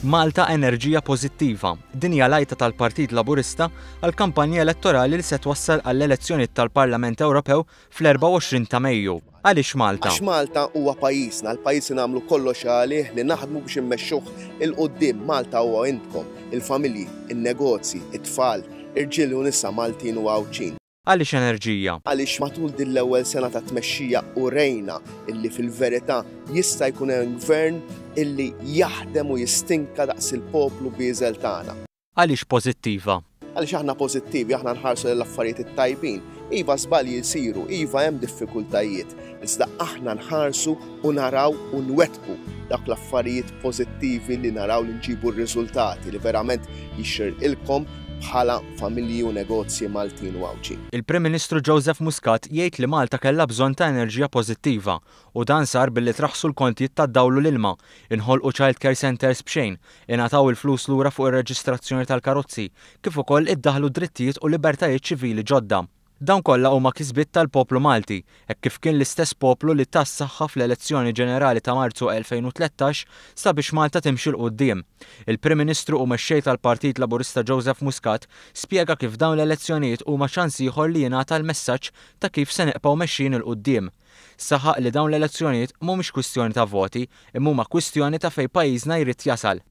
Malta enerġija pożittiva. Din hija l-għajta tal-Partit Laburista għall-kampanja elettorali li se twassal għall-elezzjonijiet tal-Parlament Ewropew fl-24 ta' Mejju. Għaliex Malta? Għax Malta huwa pajjiżna, l-pajjiż li nagħmlu kollox għalih li naħdmu biex immexxuh 'il quddiem. Malta huwa intkom, il-familji, in-negozji, it-tfal, irġiel u nisa Maltin u Għawdxin. Għaliex enerġija? Għaliex matul din l-ewwel sena ta' tmexxija urejna illi fil-verità jista' jkun hemm gvern illi jaħdem u jistinka daqs il-poplu bieżel tagħna. Għaliex pożittiva? Għaliex aħna pożittivi, aħna nħarsu lejn l-affarijiet it-tajbin. Iva żbalji jsiru, iva hemm diffikultajiet, iżda aħna nħarsu u naraw u nwettqu dawk l-affarijiet pożittivi li naraw li nġibu r-riżultati li verament jixirqilkom bħala familji u negozji Maltin u Għawdxin. Il-Prim Ministru Joseph Muscat jgħid li Malta kellha bżonn ta' enerġija pożittiva u dan sar billi traħħsu l-kontijiet tad-dawl u l-ilma, inħolqu child care centres b'xejn, ingħataw il-flus lura fuq ir-reġistrazzjoni tal-karozzi, kif ukoll iddaħħlu drittijiet u libertajiet ċivili ġodda. Dawn kollha huma kisbiet tal-poplu Malti, hekk kif kien l-istess poplu li ta s-saħħa fl-elezzjoni ġenerali ta' Marzu 2013 sabiex Malta timxi 'l quddiem. Il-Prim Ministru u Mexxej tal-Partit Laburista Joseph Muscat spjega kif dawn l-elezzjonijiet huma ċans ieħor li jingħata l-messaġġ ta' kif se nibqgħu mexjin 'il quddiem. Saħaq li dawn l-elezzjonijiet mhumiex kwistjoni ta' voti imma huma kwistjoni ta' fejn pajjiżna jrid jasal.